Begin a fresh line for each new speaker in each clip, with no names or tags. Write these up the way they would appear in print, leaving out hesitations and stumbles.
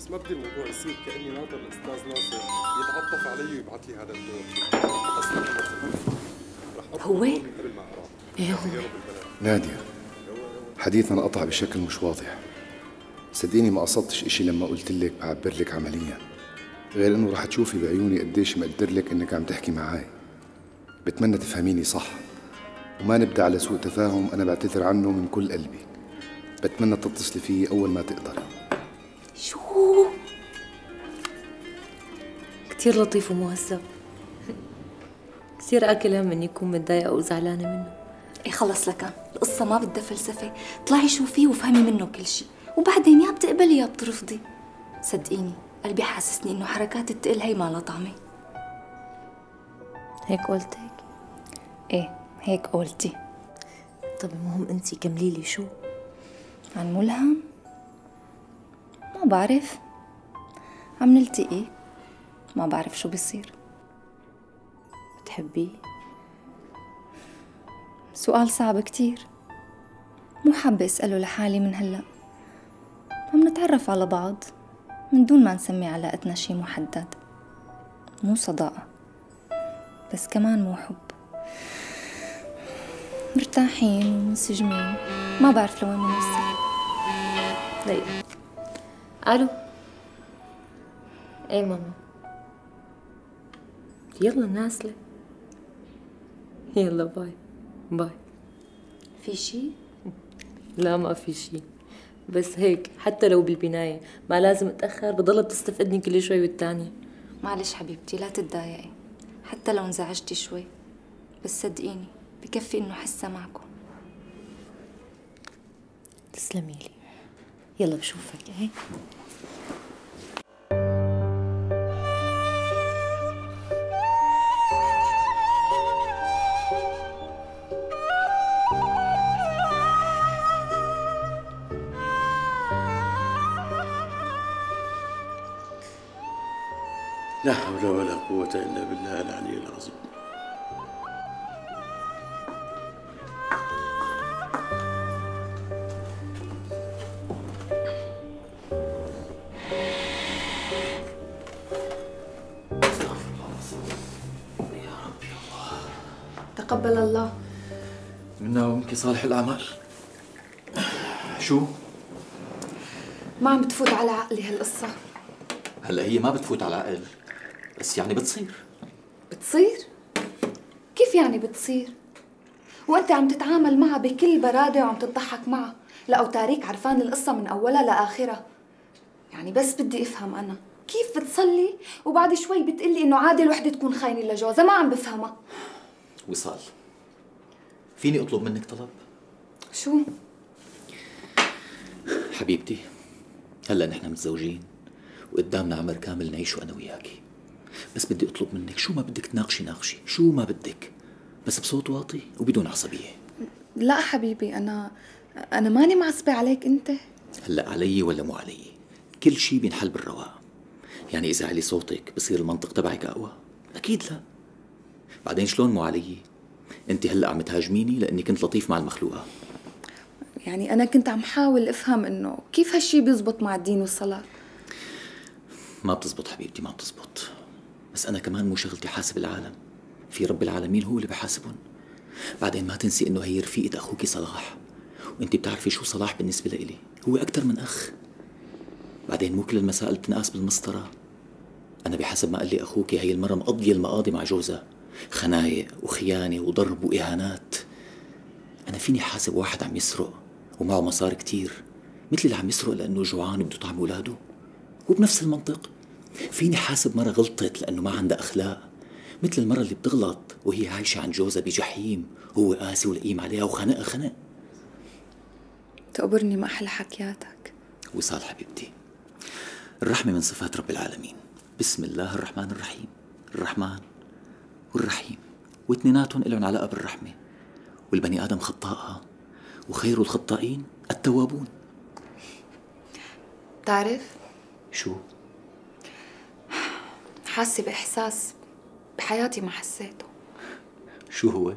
ما بدي الموضوع يصير كأني ناطر الأستاذ ناصر يتعطف علي ويبعث لي هذا الدور. أصلاً رح
هو؟
قبل ما أقرأ.
إيه هو؟
نادية، حديثنا قطع بشكل مش واضح. صدقيني ما قصدتش إشي لما قلت لك بعبر لك عمليا، غير إنه رح تشوفي بعيوني قديش مقدر لك إنك عم تحكي معاي. بتمنى تفهميني صح وما نبدأ على سوء تفاهم. أنا بعتذر عنه من كل قلبي. بتمنى تتصلي فيي أول ما تقدري.
شو؟ كتير لطيف ومهذب. كتير آكل هم إني أكون متضايقة وزعلانة منه.
ايه خلص لك، القصة ما بدها فلسفة، طلعي شوفيه وفهمي منه كل شيء، وبعدين يا بتقبلي يا بترفضي. صدقيني قلبي حاسسني إنه حركات التقل هي ما لها طعمة.
هيك قلت هيك؟
ايه هيك قلتي.
طب المهم أنتي كملي لي شو؟
عن ملهم؟ ما بعرف، عم نلتقي ما بعرف شو بيصير.
بتحبيه؟
سؤال صعب كتير، مو حابة أسأله لحالي من هلأ. عم نتعرف على بعض من دون ما نسمي علاقتنا شي محدد. مو صداقة بس كمان مو حب. مرتاحين ومنسجمين، ما بعرف لوين بنوصل.
دقيقة. ألو. إيه ماما. يلا نازلة. يلا باي باي.
في شي؟
لا ما في شي، بس هيك حتى لو بالبناية ما لازم اتأخر، بضلها بتستفقدني كل شوي والتانية.
معلش حبيبتي لا تتضايقي، حتى لو انزعجتي شوي، بس صدقيني بكفي انه حسها معكم.
تسلمي لي. يلا بشوفك. ايه
لا حول ولا قوة إلا بالله العلي العظيم.
تقبل الله
منا ومنك صالح الأعمال. شو؟
ما عم بتفوت على عقلي هالقصة.
هلا هي ما بتفوت على العقل، بس يعني بتصير.
بتصير؟ كيف يعني بتصير؟ وانت عم تتعامل معها بكل برادة وعم تضحك معها، لا وتاريك عرفان القصة من أولها لآخرها. يعني بس بدي أفهم أنا كيف بتصلي وبعد شوي بتقلي إنه عادي الوحدة تكون خاينة لجوزها؟ ما عم بفهمها.
وصال، فيني أطلب منك طلب؟
شو؟
حبيبتي، هلا نحن متزوجين وقدامنا عمر كامل نعيشه أنا وياكي، بس بدي أطلب منك شو ما بدك تناقشي ناقشي، شو ما بدك، بس بصوت واطي وبدون عصبية.
لا حبيبي، أنا ماني معصبة عليك أنت.
هلا علي ولا مو علي؟ كل شي بينحل بالرواق. يعني إذا علي صوتك بصير المنطق تبعك أقوى؟ أكيد لا. بعدين شلون مو علي؟ أنت هلا عم تهاجميني لأني كنت لطيف مع المخلوقة.
يعني أنا كنت عم حاول أفهم إنه كيف هالشي بيزبط مع الدين والصلاة.
ما بتزبط حبيبتي، ما بتزبط. بس أنا كمان مو شغلتي حاسب العالم، في رب العالمين هو اللي بحاسبهم. بعدين ما تنسي إنه هي رفيقة أخوكي صلاح، وأنت بتعرفي شو صلاح بالنسبة لإلي، هو أكتر من أخ. بعدين مو كل المسائل بتنقاس بالمسطرة. أنا بحسب ما قال لي أخوكي هي المرة مقضية المقاضي مع جوزها، خنايق وخيانة وضرب وإهانات. أنا فيني حاسب واحد عم يسرق ومعه مصاري كتير مثل اللي عم يسرق لأنه جوعان وبده طعم أولاده؟ وبنفس المنطق فيني حاسب مرة غلطت لأنه ما عندها أخلاق مثل المرة اللي بتغلط وهي عايشة عن جوزها بجحيم، هو قاسي ولئيم عليها وخنقها خنق.
تقبرني ما أحلى حكياتك.
وصال حبيبتي، الرحمة من صفات رب العالمين. بسم الله الرحمن الرحيم. الرحمن والرحيم واثنيناتهم لهم علاقة بالرحمة. والبني آدم خطاء، وخير الخطائين التوابون.
بتعرف
شو؟
حاسة بإحساس بحياتي ما حسيته.
شو هو؟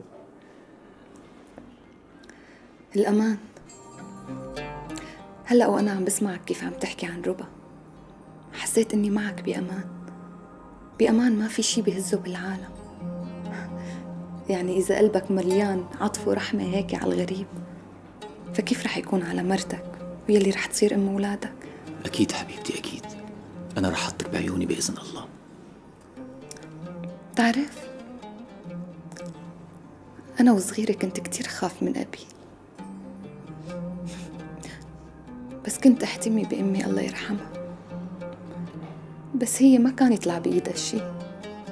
الأمان. هلأ وأنا عم بسمعك كيف عم تحكي عن ربا، حسيت إني معك بأمان، بأمان ما في شي بهزه بالعالم. يعني إذا قلبك مليان عطف ورحمة هيك على الغريب، فكيف رح يكون على مرتك ويلي رح تصير أم أولادك؟
أكيد حبيبتي أكيد، أنا رح أحطك بعيوني بإذن الله.
تعرف أنا وصغيرة كنت كتير خاف من أبي، بس كنت أحتمي بأمي الله يرحمها، بس هي ما كان يطلع بإيدها شي،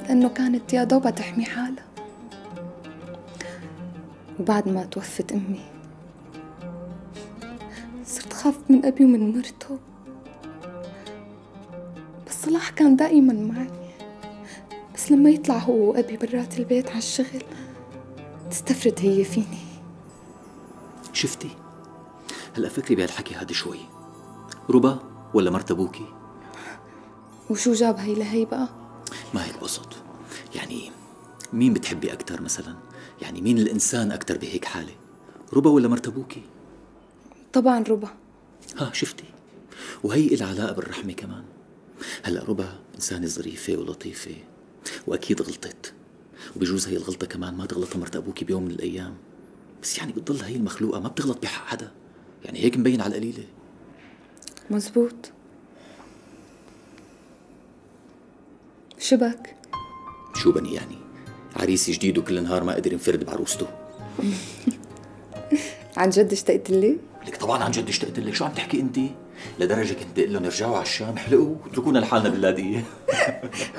لأنه كانت يا دوبها تحمي حالها. وبعد ما توفت أمي صرت خاف من أبي ومن مرته، بس صلاح كان دائما معي. بس لما يطلع هو وأبي برات البيت على الشغل تستفرد هي فيني.
شفتي؟ هلأ فكري بهالحكي هاد شوي، ربا ولا مرت أبوكي؟
وشو جاب هي لهي بقى؟
ما هيك بقصد، يعني مين بتحبي أكتر مثلا؟ يعني مين الإنسان أكتر بهيك حالة؟ ربا ولا مرت أبوكي؟
طبعا ربا.
ها شفتي؟ وهي إلها علاقة بالرحمة كمان. هلأ ربا إنسانة ظريفة ولطيفة وأكيد غلطت، وبجوز هي الغلطة كمان ما تغلطها مرت أبوكي بيوم من الأيام، بس يعني بتضل هي المخلوقة ما بتغلط بحق حدا، يعني هيك مبين على القليلة.
مزبوط. شبك؟
شو بني يعني؟ عريسي جديد وكل نهار ما قدر ينفرد بعروسته.
عن جد اشتقت لي؟
لك طبعا عن جد اشتقت لك، شو عم تحكي انت؟ لدرجة كنت اقول لهم ارجعوا على الشام احلقوا واتركونا لحالنا باللاذقية.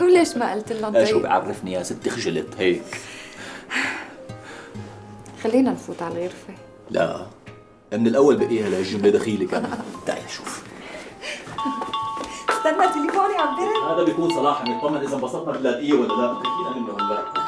وليش ما قلت لهم طيب؟
شو بعرفني يا ستي خجلت هيك.
خلينا نفوت على الغرفة.
لا من الأول بقيها لهالجملة دخيلة كمان. تعي شوف.
استنى تليفوني عم برن.
هذا بيكون صلاح عم يطمن إذا انبسطنا باللاذقية ولا لا، حكينا منه هلا.